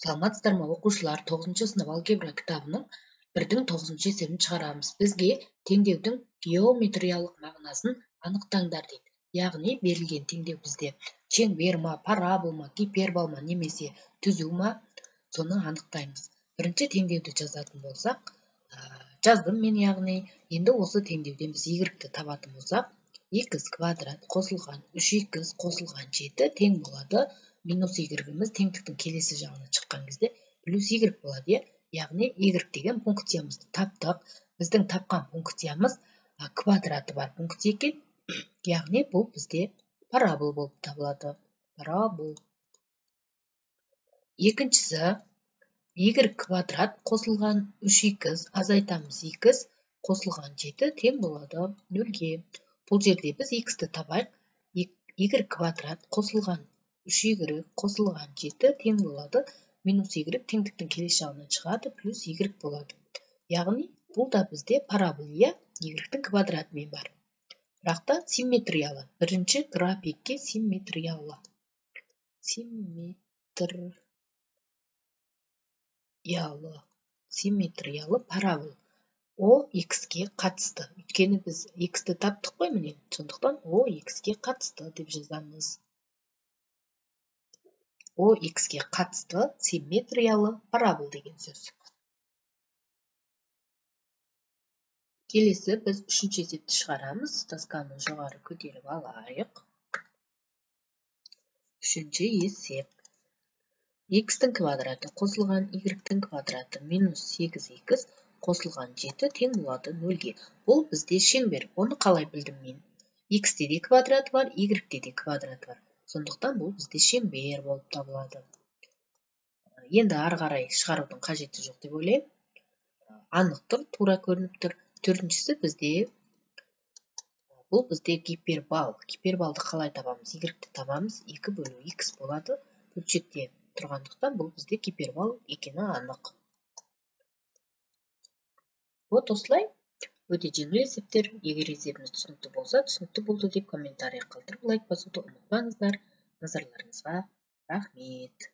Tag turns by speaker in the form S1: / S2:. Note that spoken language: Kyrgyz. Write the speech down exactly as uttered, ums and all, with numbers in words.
S1: Саламатсыздарбы окуучулар, тогузунчу сынып алгебра китабынын бирдин тогузунчу эсебин чыгарабыз. Бизге теңдөөдүн геометриялык мағынасын аныктаңдар дейт. Ягни берилген теңдөө бизде чеңберме, параболма, гиперболма немесе түзүүмө, сону аныктайбыз. Биринчи теңдөөдү жазатын болсак, жаздым мен ягни. Эndi осы теңдөөдөн биз y-ті табатын болсак, x квадрат косулган үч x косулган жети тең болот. Минус y-имиз теңдиктин келеси жагына чыккан кезде плюс y болот, э? Ягни y деген функциябызды таптык. Биздин тапкан функциябыз квадраты бар функция экен. Ягни бул бизде парабол болуп табылат. Парабол. Экинчиси y квадрат косулган үч x азайтамыз x косулган жети тең болот нөлгө. Бул жерде биз x-ті табайык. Y квадрат косулган үч y косулган жети тең болот. Минус y теңдиктин келесі жагына чыгат, плюс y болот. Ягни бул да бизде парабол, э? Y-тин квадраты менен бар. Бирок та симметриялы. Биринчи графикке симметриялы. Симметриялы. Симметриялы парабол. O x-ге катысты. Өткөнү биз x-ті таптык кой менен. Сондуктан O x-ге катысты деп жазабыз. O x-ге катысты симметриялы парабол деген сөз. Келесі біз үчүнчү эсепти чыгарабыз. Досканы жогору көтөрүп алайык. Үчүнчү эсеп. X-тин квадраты косулган y-тин квадраты минус сегиз x косулган жети тең болот нөлгө. Бул бизде чеңбер. Оны калай билдим мен? X-те де квадрат бар, y-те де квадрат бар. Сондуктан бул бизде чеңбер болуп табылат. Енді ары карай чыгаруунун кажети жок деп ойлойм. Аныктыр, туура көрүнүптүр. Төртүнчүсү бизде бул бизде гипербол. Гиперболду калай табамыз? Y-ті табамыз. эки бөлү x болот. Бөлчөктө тургандыктан бул бизде гипербол экени анык. Вот осулай. Өтө жеңил эсептер. Эгер эсебиңиз түшүнүктүү болсо, түшүнүктүү болду деп комментарий калтырып, лайк басууду унутпаңыздар. Назарларыңызга рахмет.